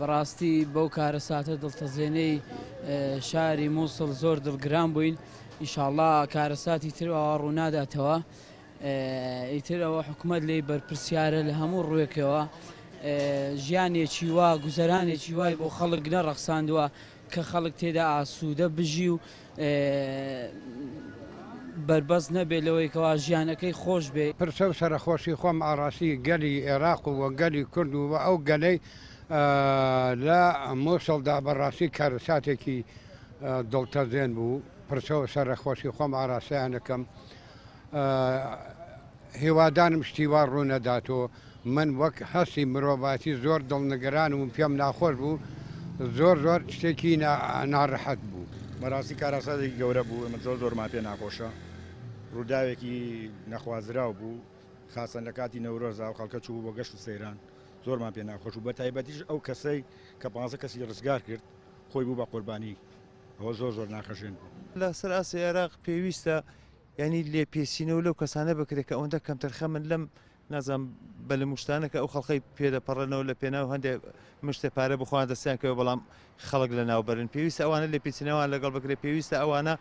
بەڕاستی بەو کارەساتە دڵتەزێنەی شاری مووسڵ زۆر دڵگران بووین، ئیشاڵڵا کارەساتی تر ئاوا ڕووناداتەوە، ئیتر ئەوە حکومەت لێی بەرپرسیارە لە هەموو ڕووێکەوە، ژیانێکی وا گوزەرانێکی وای بۆ خەڵک نەڕەخساندووە کە خەڵک تێدا ئاسوودە بژی و بەربەست نەبێت لەوەی کەوا ژیانەکەی خۆش بێ. پرسە و سەرەخۆشی خۆم ئاڕاستی گەلی ئێراق و گەلی کورد و ئەو گەلەی لە موسڵدا بەڕاستی کارەساتێکی دڵتەزێن بوو، پرسە و سەرەخۆشی خۆم ئاراستەیان دەکەم، هیوادارم شتی وا ڕوونەدات و من وەک هەستی مرۆڤایەتی زۆر دڵنگەرانم و پێم ناخۆش بوو، زۆر زۆر شتێکی ناڕەحەت بوو. بەڕاستی کارەساتێکی گەورە بوو، ئێمە زۆر زۆرمان پێ ناخۆشە، ڕووداوێکی نەخوازراو بوو، خاسەن لە کاتی نەورۆزدا ئەو خەڵکە چوو بۆ گەشت و سەیران، زۆرمان پێ ناخۆش بوو، بەتایبەتیش ئەو کەسەی کە 15 کەسی ڕزگار کرد خۆی بوو بە قوربانی، ئەوە زۆر زۆر ناخەژێن بوو. لەسەر ئاستی عێراق پێویستە یانی لێپێچینەوە لەو کەسانە بکرێت کە ئەوەندە کەمتەرخەمن لەم نازانم بەلەم و شتانە کە ئەو خەڵکەی پێدەپەڕێنەوە لە پێناو هەندێ مشتێ پارە بۆ خۆیان دەستیان کەوێ بەڵام خەڵک لە ناوبەرن پێویستە ئەوانە لێپێچینەوەیان لەگەڵ بکرێت پێویستە ئەوانە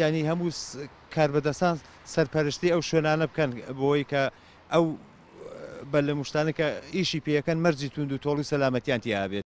ینی هەموو کاربەدەستان سەرپەرشتی ئەو شوێنانە بکەن بۆی کە ئەو بەلەم و شتانە کە ئیشی پێەکەن مەرجی توند و تۆڵی سەلامەتیان تیا بێت.